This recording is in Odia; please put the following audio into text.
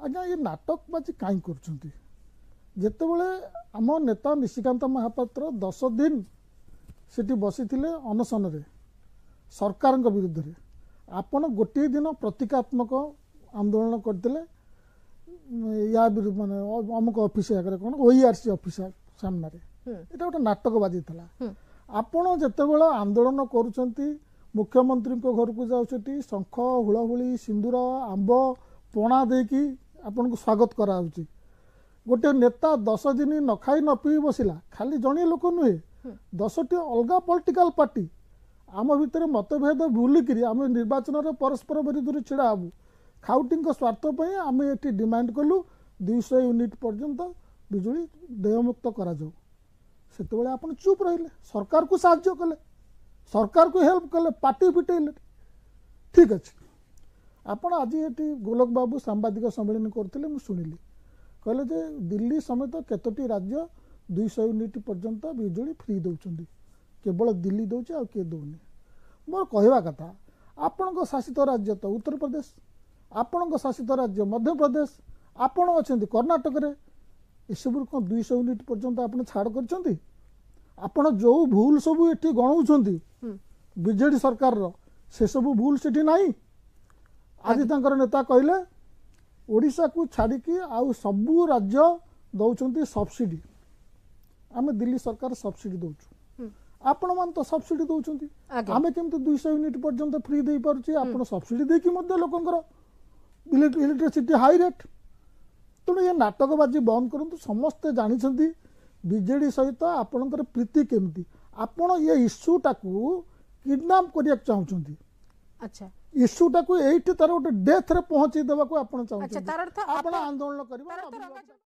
ଆଜ୍ଞା, ଏ ନାଟକବାଜି କାହିଁ କରୁଛନ୍ତି? ଯେତେବେଳେ ଆମ ନେତା ନିଶିକାନ୍ତ ମହାପାତ୍ର 10 ଦିନ ସେଠି ବସିଥିଲେ ଅନଶନରେ ସରକାରଙ୍କ ବିରୁଦ୍ଧରେ, ଆପଣ ଗୋଟିଏ ଦିନ ପ୍ରତୀକାତ୍ମକ ଆନ୍ଦୋଳନ କରିଥିଲେ ୟା ବିରୁଦ୍ଧ, ମାନେ ଅମୁକ ଅଫିସ ଆଗରେ, କ'ଣ ଓଇଆରସି ଅଫିସ ସାମ୍ନାରେ। ଏଇଟା ଗୋଟେ ନାଟକବାଜି ଥିଲା। ଆପଣ ଯେତେବେଳେ ଆନ୍ଦୋଳନ କରୁଛନ୍ତି, ମୁଖ୍ୟମନ୍ତ୍ରୀଙ୍କ ଘରକୁ ଯାଉଛନ୍ତି, ଶଙ୍ଖ, ହୁଳହୁଳି, ସିନ୍ଦୁର, ଆମ୍ବ, ପଣା ଦେଇକି ଆପଣଙ୍କୁ ସ୍ୱାଗତ କରାଯାଉଛି। ଗୋଟେ ନେତା 10 ଦିନ ନ ଖାଇ ନ ପିଇ ବସିଲା, ଖାଲି ଜଣିଏ ଲୋକ ନୁହେଁ, 10ଟି ଅଲଗା ପଲିଟିକାଲ ପାର୍ଟି ଆମ ଭିତରେ ମତଭେଦ ଭୁଲିକିରି ଆମେ ନିର୍ବାଚନରେ ପରସ୍ପର ବିରୁଦ୍ଧରେ ଛିଡ଼ା ହେବୁ, ଖାଉଟିଙ୍କ ସ୍ୱାର୍ଥ ପାଇଁ ଆମେ ଏଠି ଡିମାଣ୍ଡ କଲୁ 200 ୟୁନିଟ୍ ପର୍ଯ୍ୟନ୍ତ ବିଜୁଳି ଦେୟମୁକ୍ତ କରାଯାଉ। ସେତେବେଳେ ଆପଣ ଚୁପ୍ ରହିଲେ, ସରକାରକୁ ସାହାଯ୍ୟ କଲେ, ସରକାରକୁ ହେଲ୍ପ କଲେ, ପାର୍ଟି ଫିଟେଇଲେ। ଠିକ୍ ଅଛି, ଆପଣ ଆଜି ଏଠି ଗୋଲକ ବାବୁ ସାମ୍ବାଦିକ ସମ୍ମିଳନୀ କରୁଥିଲେ, ମୁଁ ଶୁଣିଲି, କହିଲେ ଯେ ଦିଲ୍ଲୀ ସମେତ କେତୋଟି ରାଜ୍ୟ 200 ୟୁନିଟ୍ ପର୍ଯ୍ୟନ୍ତ ବିଜୁଳି ଫ୍ରି ଦେଉଛନ୍ତି, କେବଳ ଦିଲ୍ଲୀ ଦେଉଛି, ଆଉ କିଏ ଦେଉନି। ମୋର କହିବା କଥା, ଆପଣଙ୍କ ଶାସିତ ରାଜ୍ୟ ତ ଉତ୍ତରପ୍ରଦେଶ, ଆପଣଙ୍କ ଶାସିତ ରାଜ୍ୟ ମଧ୍ୟପ୍ରଦେଶ, ଆପଣ ଅଛନ୍ତି କର୍ଣ୍ଣାଟକରେ, ଏସବୁରୁ କ'ଣ 200 ୟୁନିଟ୍ ପର୍ଯ୍ୟନ୍ତ ଆପଣ ଛାଡ଼ କରିଛନ୍ତି? ଆପଣ ଯେଉଁ ଭୁଲ ସବୁ ଏଠି ଗଣଉଛନ୍ତି ବିଜେଡି ସରକାରର, ସେସବୁ ଭୁଲ ସେଠି ନାହିଁ। ଆଜି ତାଙ୍କର ନେତା କହିଲେ ଓଡ଼ିଶାକୁ ଛାଡ଼ିକି ଆଉ ସବୁ ରାଜ୍ୟ ଦେଉଛନ୍ତି ସବସିଡି, ଆମେ ଦିଲ୍ଲୀ ସରକାର ସବସିଡି ଦେଉଛୁ। ଆପଣମାନେ ତ ସବସିଡି ଦେଉଛନ୍ତି, ଆମେ କେମିତି 200 ୟୁନିଟ୍ ପର୍ଯ୍ୟନ୍ତ ଫ୍ରି ଦେଇପାରୁଛି? ଆପଣ ସବସିଡି ଦେଇକି ମଧ୍ୟ ଲୋକଙ୍କର ଇଲେକ୍ଟ୍ରିସିଟି ହାଇ ରେଟ୍। ତେଣୁ ଏ ନାଟକବାଜି ବନ୍ଦ କରନ୍ତୁ। ସମସ୍ତେ ଜାଣିଛନ୍ତି ବିଜେଡି ସହିତ ଆପଣଙ୍କର ପ୍ରୀତି କେମିତି। ଆପଣ ଏ ଇସ୍ୟୁଟାକୁ କିଡନାପ କରିବାକୁ ଚାହୁଁଛନ୍ତି। ଇସ୍ୟୁଟାକୁ ଏଇଠି ତାର ଗୋଟେ ଡେଥରେ ପହଞ୍ଚେଇ ଦେବାକୁ ଆପଣ ଚାହୁଁଛନ୍ତି। ତାର ଅର୍ଥ ଆପଣ ଆନ୍ଦୋଳନ କରିବେ। ତାର ଅର୍ଥ ରଙ୍ଗା